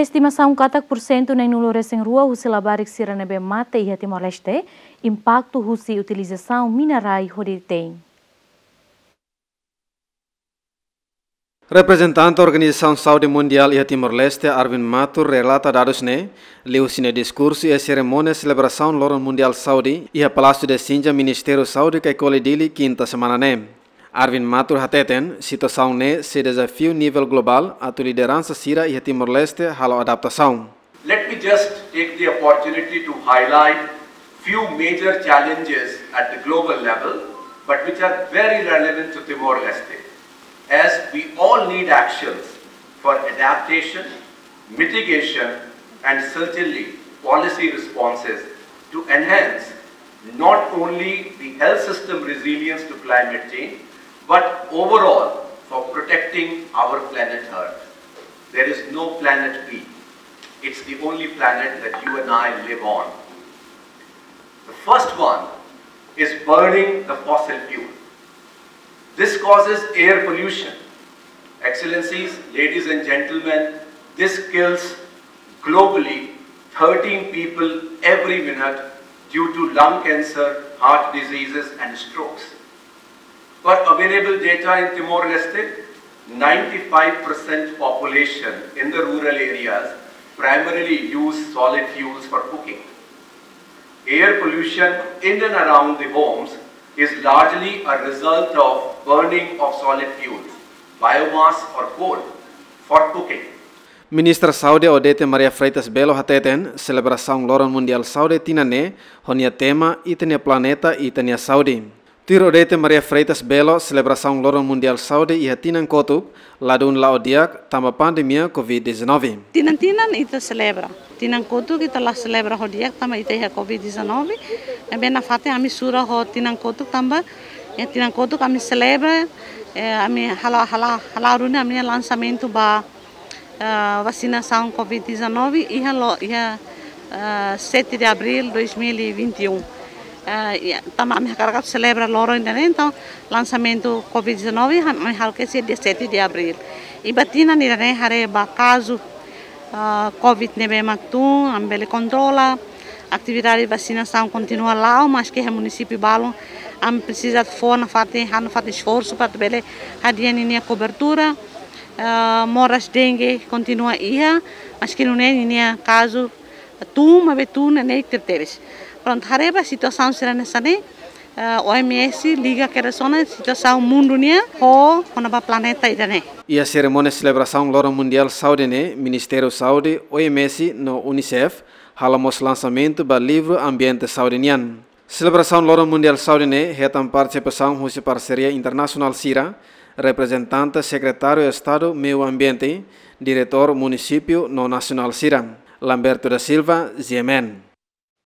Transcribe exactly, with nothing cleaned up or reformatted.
Estimasaun katak pursentu neenulu resin rua husi labarik sira ne'ebé mate iha Timor-Leste impaktu husi utilizasaun mina-rai hodi tein. Reprezentante Organizasaun Saúde Mundiál iha Timor-Leste, Arvind Mathur, relata dadus ne'e liuhusi nia diskursu iha serimónia selebrasaun Loron Mundiál Saúde iha Palásiu Desinja, Ministériu Saúde, Caicoli, Dili, kinta semana ne'e. Arvind Mathur hateten, situasaun ne'e sei dezafiu nivel globál atu lideransa sira iha Timor-Leste halo adaptasaun. Let me just take the opportunity to highlight few major challenges at the global level, but which are very relevant to Timor-Leste, as we all need actions for adaptation, mitigation, and certainly policy responses to enhance not only the health system resilience to climate change, but overall for protecting our planet Earth. There is no planet B. It's the only planet that you and I live on. The first one is burning the fossil fuel. This causes air pollution. Excellencies, ladies and gentlemen, this kills globally thirteen people every minute due to lung cancer, heart diseases, and strokes. Per available data in Timor-Leste, ninety-five percent population in the rural areas primarily use solid fuels for cooking. Air pollution in and around the homes is largely a result of burning of solid fuels, biomass or coal, for cooking. Ministra Saúde Odete Maria Freitas Belo hateten, selebrasaun Loron Mundiál Saúde tinan ne'e ho nia tema Ita-nia Planeta, Ita-nia Saúde. Tuir Odete Maria Freitas Belo, selebrasaun Loron Mundiál Saúde iha tinan kotuk ladún la'o di'ak tanba pandemia covid dezanove. Tinan-tinan ita selebra. Tinan kotuk ita la selebra ho di'ak tanba ita iha covid dezanove. Ne'ebé nafatin ami sura ho tinan kotuk tanba, eh, tinan kotuk ami selebra, eh, ami halo, halo, halo duni ami-nia lansamentu ba, eh, vasinasaun covid dezanove iha lo, iha, eh, sete de abril dois mil e vinte e um. Eh, iha, tanba ami hakarak selebra loron ida-ne'e, entaun lansamentu covid dezanove, ha-, ami halo kedas iha dia sete de abril. I ba tinan ida-ne'e haree ba kazu, ah, covid ne'ebé mak tun, ami bele kontrola, atividade vasinasaun kontinua la'o, maski iha munisípiu balun, ami presiza fó nafatin, halo nafatin esforsu para bele hadi'a ninia kobertura, ah, moras dengue kontinua iha, maski nune'e ninia kazu tun, maibé tun neineik tebetebes. Prontu, haree ba situasaun sira hanesan ne'e, eh, O M S liga kedas ona situasaun mundu nian ho, kona-ba planeta ida-ne'e. Iha serimónia selebrasaun Loron Mundiál Saúde ne'e, Ministériu Saúde, O M S no UNICEF halo mós lansamentu ba livru Ambiente Saúde nian. Selebrasaun Loron Mundiál Saúde ne'e hetan partisipasaun husi parseria internasionál sira, reprezentante Sekretáriu Estadu Meiu Ambiente, diretór munisípiu no nasionál sira. Lamberto da Silva, G M N.